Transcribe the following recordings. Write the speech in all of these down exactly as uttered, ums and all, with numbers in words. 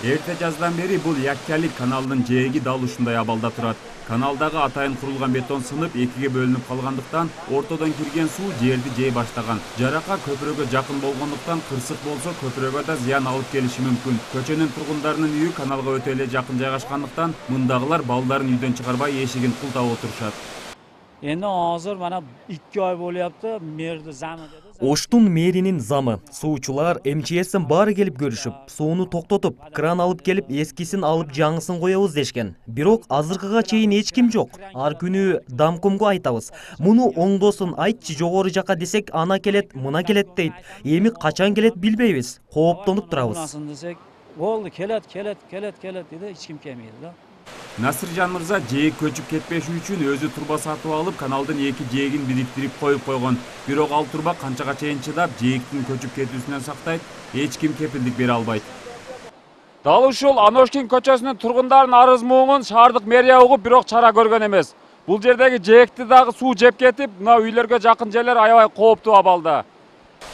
Эрте жаздан бери бул Яккялик каналынын жээги дал ушундай абалда турат. Каналдагы атайын курулган бетон сынып экиге бөлүнүп калгандыктан ортодон кирген суу жерди жей баштаган. Жарака көпүрөгө жакын болгондуктан кырсык болсо көпүрөгө да зыян алып келиши мүмкүн. Көчөнүн тургундарынын үйү каналга өтө эле жакын жайгашкандыктан мындагылар балдарын үйдөн чыгарбай эшигин култап отурушат. Эми азыр мана эки ай болупту, мэрди замы деди. Оштун мэринин замы. Суучулар эм че эстен баары келип көрүшүп, сууну токтотуп, кран алып келип эскисин алып жаңысын коебуз дешкен. Бирок азыркыга чейин эч ким жок. Ар күнү Дамкомго айтабыз. Муну оңдосун айтчы жогору жака десек, ана келет, мына келет дейт. Эми качан келет билбейбиз. Кооптонуп турабыз. Болду, келет, келет, келет, келет деди, эч ким келмейди да. Насыржан мырза жээк көчүп кетпеши үчүн өзү турба сатып алып, каналдын эки жээгин бириктирип коюп койгон. Бирок ал турба канчага чейин чыдап, жээктин көчүп кетүүсүнөн сактайт, эч ким кепилдик бере албайт. Дал ушул Аношкин көчөсүнүн тургундарынын арыз муңун шаардык мэрия угуп, бирок чара көргөн эмес. Бул жердеги жээкти дагы суу жеп кетип, мына үйлөргө жакын жерлер аябай кооптуу абалда.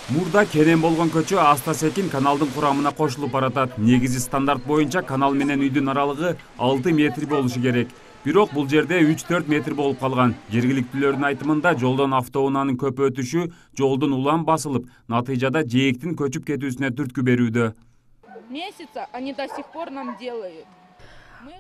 Мурда керем болгон көчө аста-секин каналдын курамына кошулуп баратат. Негизи стандарт боюнча канал менен үйдүн аралыгы алты метр болушу керек. Бирок бул жерде үч төрт метр болуп калган. Жергиликтүүлөрдүн айтымында жолдон автоунаанын көп өтүшү жолдун улам басылып, натыйжада жээктин көчүп кетүүсүнө түрткү берүүдө. Месяца они до сих пор нам делают.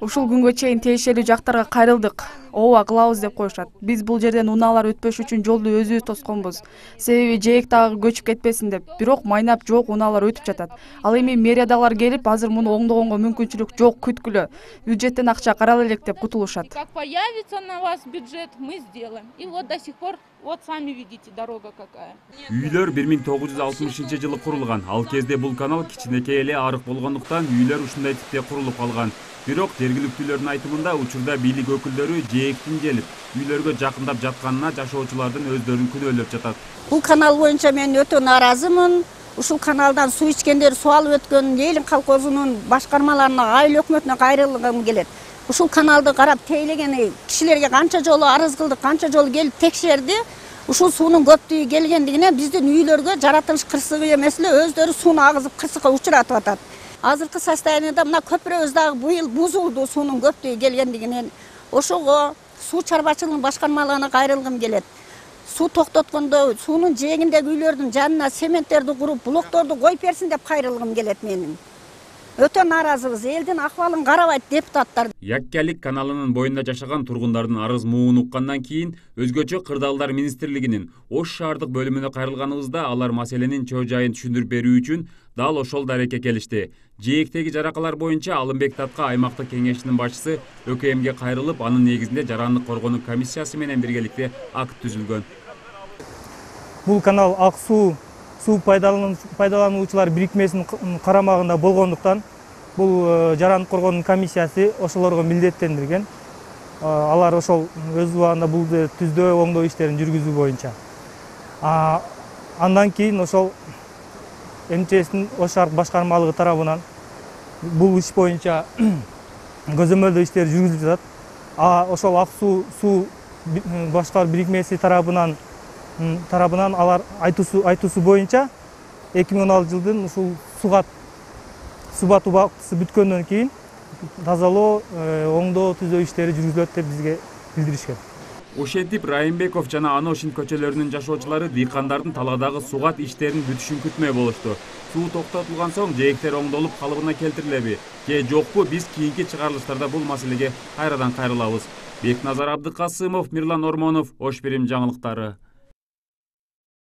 Ушул күнгө чейин тиешелүү жактарга кайрылдык. Ооба кылабыз деп коюшат. Биз бул жерден унаалар өтпөш үчүн жолду өзүбүз тосконбуз. Себеби жээк дагы көчүп кетпесин деп. Бирок майнап жок унаалар өтүп жатат. Ал эми мэриядагылар келип, азыр муну оңдогонго мүмкүнчүлүк жок, күткүлө. Бюджеттен акча карала элек деп кутулушат. Как появится на вас бюджет, мы сделаем. И вот до сих пор вот сами видите, дорога какая. Үйлөр бир миң тогуз жүз алтымышынчы жылы курулган. Ал кезде бул канал кичинекей эле арык болгондуктан үйлөр ушундай типте курулуп калган. Бирок жергиликтүүлөрдүн айтымында учурда бийлик өкүлдөрү жээктин келип, үйлөргө жакындап жатканына жашоочулардын өздөрүн күнөөлөп жатат. Бул канал боюнча мен өтө нааразымын. Ушул каналдан суу ичкендер, суу алып өткөн Элин колхозунун башкармаларына, айыл өкмөтүнө кайрылгым келет. Ушул каналды карап тейлеген кишилерге канча жолу арыз кылдык, канча жолу келип текшерди. Ушул суунун көптүгү келгендигине биздин үйлөргө жаратылыш кырсыгы эмес эле өздөрү сууну агызып кырсыкка учуратып атат. Азыркы состояниеда мына көпүрөбүз дагы быйыл бузулду суунун көптүгү келгендигинен. Ошого суу чарбачылыгынын башкармаларына кайрылгым келет. Суу токтоткондо суунун жээгиндеги үйлөрдүн жанына сементтерди куруп, блокторду коюп берсин деп кайрылгым келет менин. Өтө нааразыбыз, элдин акыбалын карабайт депутаттар. Яккялик каналынын боюнда жашаган тургундардын арыз муңун уккандан кийин өзгөчө кырдаалдар министрлигинин Ош шаардык бөлүмүнө кайрылганыбызда алар маселенин чоо жайын түшүндүрүп берүү үчүн дал ошол дарекке келишти. Жээктеги жаракалар боюнча Алымбек Татка аймактык кеңешинин башчысы ÖKMге кайрылып, анын негизинде жарандык коргонуу комиссиясы менен биргеликте акт түзүлгөн. Бул канал ак суу суу пайдалануучулар бирикмесинин карамагында болгондуктан бул жарандык коргонуу комиссиясы ошолорго милдеттендирген. Алар ошол өз убагында бул түздөө, оңдоо иштерин жүргүзүү боюнча. Андан кийин ошол эм че эстин Ош шаар башкармалыгы тарабынан бул иш боюнча көзөмөлдөө иштери жүргүзүлүп жатат. А ошол ак суу суу башкаруу бирикмеси тарабынан тарабынан алар айтуусу айтуусу боюнча эки миң он алтынчы жылдын ушул сугат субат убактысы бүткөндөн кийин тазалоо, оңдоо, түзөө иштери жүргүзүлөт деп бизге билдиришкен. Ошентип Райымбеков жана Аношин көчөлөрүнүн жашоочулары дыйкандардын таладагы сугат иштерин бүтүшүн күтмөй болушту. Суу токтотулган соң жээктер оңдолуп калыбына келтирилеби же жокпу, биз кийинки чыгарылыштарда бул маселеге кайрадан кайрылабыз. Бекназар Абдыкасымов, Мирлан Ормонов, Ош Бирим жаңылыктары.